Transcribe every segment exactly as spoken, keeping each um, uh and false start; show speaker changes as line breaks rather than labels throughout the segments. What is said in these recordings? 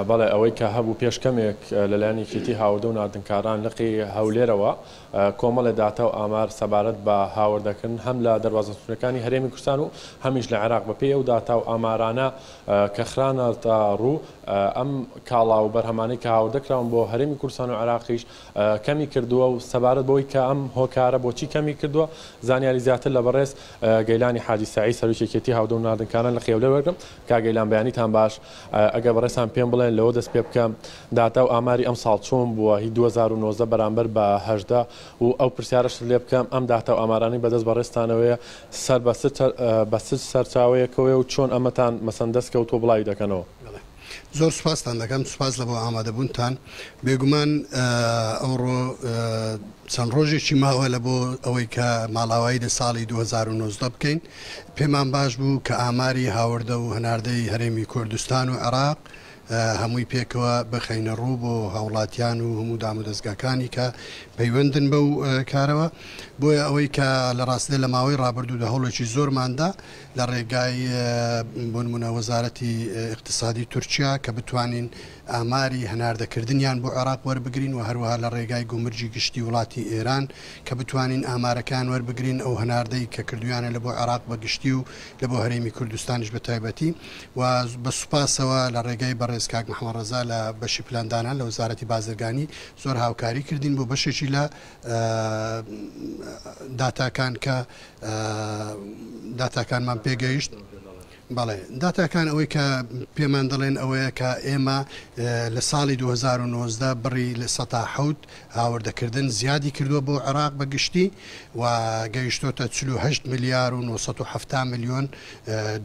بەڵێ، ئەوەی کە هەبوو پێش کەمێک لەلایەن یەکێتی هاوردە و ناردنکاران لقی هەولێرەوە کۆمەڵێ داتا و ئامار سەبارەت بە هاوردەکردن هەم لە دەروازە سنوورەکانی هەرێمی کوردستان و هەمیش لە عێراق بەپێی ئەو داتا و ئامارانە کە خرانەتە ڕوو ئەم کاڵا و بەرهەمانەی کە هاوردەکراون بۆ هەرێمی کوردستان و عێراقیش کەمی کردووە و سەبارەت بەوەی کە ئەم هۆکارە بۆچی کەمی کردووە زانیاری زیاتر لە بەڕێز گەیلانی حاجی سەعید سەرۆکی یەکێتی هاوردە و ناردنکاران لقی هەولێر وەرگرم. کاک گەیلان بەیانیتان باش. ئەگەر بەڕێزتان پێم بڵێن لەوە دەست پێ بکەم داتا و ئاماری ئەم ساڵ چۆن بووە هی دوو هەزار و نۆزدە بەرامبەر بە هەژدە و ئەو پرسیارەش لێ بکەم ئەم داتا و ئامارانەی بەدەست بەڕێزتانەوەیە سەر بە چ سەرچاوەیەکەوەیە و چۆن ئەمەتان مەسەن دەست کەوتووە بڵاوی دەکەنەوە؟
زۆر سوپاستان دەکەم، سوپاس لە بۆ ئامادەبوونتان. بێگومان ئەوڕۆ چەند ڕۆژێکی ماوە لە بۆ ئەوەی کە ماڵاوایی لە ساڵی دوو هەزار و نۆزدە بکەین. پێمان باش بوو کە ئاماری هاوردە و هەناردەی هەرێمی کوردستان و عێراق هەمووی پێکەوە بخەینە ڕوو بۆ هاوڵاتیان و هەموو دامودەزگاکانی کە پەیوەندن بەو کارەوە. بۆیە ئەوەی کە لە ڕاستیدا لە ماوەی ڕابردوودا هەوڵێکی زۆرماندا لە ڕێگای بۆ نمونە وەزارەتی اقتصادی تورکیا کە بتوانین ئاماری هەناردەکردنیان بۆ عێراق وەربگرین و هەروەها لە ڕێگای گومرگی گشتی وڵاتی ئێران کە بتوانین ئامارەکان وەربگرین ئەو هەناردەی کە کردویانە لە بۆ عێراق بە گشتی و لە بۆ هەرێمی کوردستانیش بە تایبەتی. و بە سوپاسەوە لە ڕێگای بەڕێز کاک محەممەد ڕەزا لە بەشی پلاندانان لە وەزارەتی بازرگانی زۆر هاوکاری کردین بۆ بەشێکی لە داتاکان کە داتاکانمان پێگەیشت. بەڵێ، داتاکان ئەوەی کە پێمان دەڵێن ئەوەیە کە ئێمە لە ساڵی دوو هەزار و نۆزدە بڕی لە سەتا حەوت هاوردەکردن زیادی کردووە بۆ عێراق بە گشتی و گەیشتۆتە چل و هەشت ملیار و نۆسەد و حەفتا ملیۆن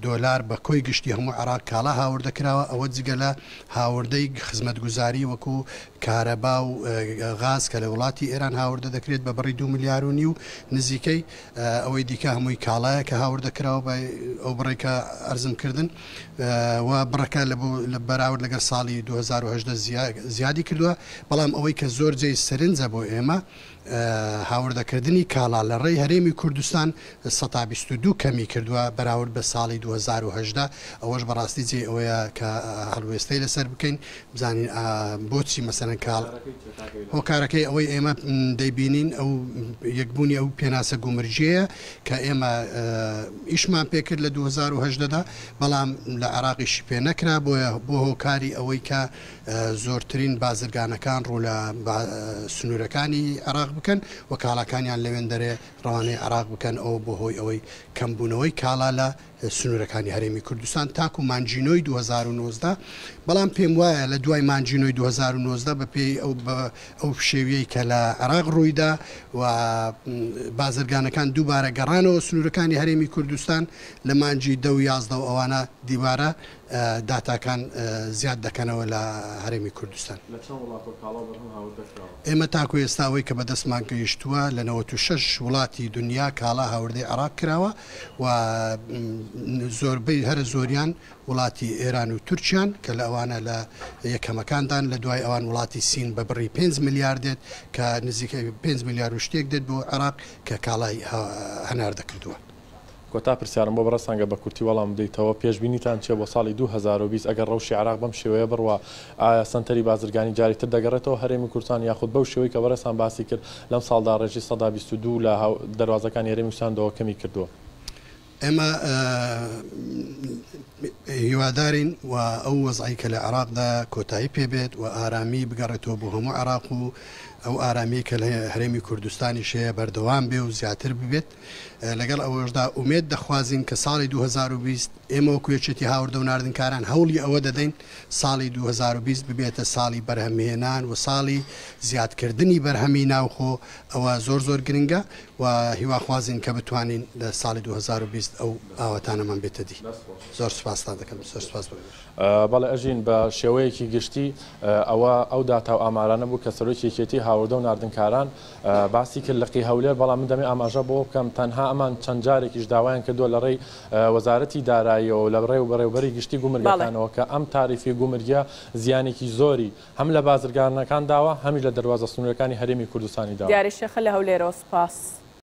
دۆلار بە کۆی گشتی هەموو عێراق کاڵا هاوردەکراوە. ئەوە جگە لە هاوردەی خزمەتگوزاری وەکو کارەبا و غاز کە لە وڵاتی ئێران هاوردە دەکرێت بە بڕی دوو ملیار و نیو نزیکەی. ئەوەی دیکە هەمووی کاڵایە کە هاوردەکراوە بە ئەو بڕێکە ئەرزم کردن و بڕەکە لە بەراورد لەگەڵ ساڵی دوو هەزار و هەژدە زیادی کردووە. بەڵام ئەوەی کە زۆر جێی سەرنجە بۆ ئێمە هاوردەکردنی کاڵا لە ڕێی هەرێمی کوردستان سەتا بیست و دوو کەمی کردووە بەراورد بە ساڵی دوو هەزار و هەژدە. ئەوەش بەڕاستی جێی ئەوەیە کە هەڵوێستەی لەسەر بکەین بزانین بۆچی مەسەلەن کاڵ هۆکارەکەی ئەوەی ئێمە دەیبینین ئەو یەکبوونی ئەو پێناسە گومرگیەیە کە ئێمە ئیشمان پێکرد لە دوو هەزار و هەژدەدا، بەڵام لە عێراقیشی پێ نەکرا. بۆیە بۆ هۆکاری ئەوەی کە زۆرترین بازرگانەکان ڕوو لە سنوورەکانی عێراق بکەن و کاڵاکانیان لەوێن دەرێ ڕەوانەی عێراق بکەن، ئەو بۆ هۆی ئەوەی کەمبوونەوەی کاڵا لە سنوورەکانی هەرێمی کوردستان تاکو مانجینۆی دوو هەزار و نۆزدە. بەڵام پێم وایە لە دوای مانجینۆی دوو هەزار و نۆزدە بەپێی ئەو ئەو پشێویەی کە لە عێراق ڕوویدا و بازرگانەکان دووبارە گەڕانەوە سنوورەکانی هەرێمی کوردستان لە مانجی دە و یازدە و ئەوانە دیوارە داتاکان زیاد دەکەنەوە لە هەرێمی کوردستان.
لە چەند وڵاتەوە کاڵا بەرهەم هاوردەکراوە؟
ئێمە تاکو ئێستا ئەوەی کە بەدەستمان گەیشتووە لە نەوەت و شەش وڵاتی دنیا کاڵا هاوردەی عێراق کراوە و زۆربەی هەرە زۆریان وڵاتی ئێران و تورکیان کە لە ئەوانە لە یەکەمەکاندان. لە دوای ئەوان وڵاتی سین بە بڕی پێنج ملیار دێت کە نزیکەی پێنج ملیار و شتێک دێت بۆ عێراق کە کاڵای هەناردە کردووە.
کۆتا پرسیارم بۆ بەڕێزتانگە بە کورتی وەڵام بدەیتەوە، پێشبینیتان چییە بۆ ساڵی دوو هەزار و بیست ئەگەر ڕەوشی عێراق بەم شێوەیە بڕوا ئایا سەنتەری بازرگانی جاریتر دەگەڕێتەوە هەرێمی کوردستان یاخود بەو شێوەی کە بەڕێزتان باسی کرد لەم ساڵدا ڕێژەی سەدا بیست و دوو لە دەروازەکانی هەرێمی کوردستاندەوە کەمی کردووە؟
ئێمە هیوادارین و ئەو وەزعی کە لە عێراقدا کۆتایی پێبێت و ئارامی بگەڕێتەوە بۆ هەموو عێراق و ئەو ئارامی کە لە هەرێمی کوردستانیش هەیە بەردەوام بێ و زیاتر ببێت. لەگەڵ ئەوەشدا ئومێد دەخوازین کە ساڵی دوو هەزار و بیست ئێمە وەکو یەکێتی هاوردە و ناردنکاران هەوڵی ئەوە دەدەین ساڵی دوو هەزار و بیست ببێتە ساڵی بەرهەمهێنان و ساڵی زیادکردنی بەرهەمی ناوخۆ. ئەوە زۆر زۆر گرنگە و هیواخوازین کە بتوانین لە ساڵی دوو هەزار و بیست ئەو ئاواتانەمان بێتە دی. زۆر سوپاستان دەکەم، زۆر سوپاس بۆ.
بەڵێ ئەژین، بە شێوەیەکی گشتی ئەوە ئەو داتا و ئامارانە بوو کە سەرۆکی یەکێتی هاوردە و ناردنکاران باسی کرد لقی هەولێر. بەڵام من دەمێ ئاماژە بۆ بکەم تەنها ئەمان چەند جارێکیش داوایان کردووە لە ڕێی وەزارەتی داراییەوە لە ڕێ و بەڕێوبەری گشتی گومرگەکانەوە کە ئەم تاریفی گومرگیە زیانێکی زۆری هەم لە بازرگانەکان داوە هەمیش لە دەروازە سنوورەکانی هەرێمی کوردستانی داوە.
دیاری شێخە لە هەولێرەوە سوپاس.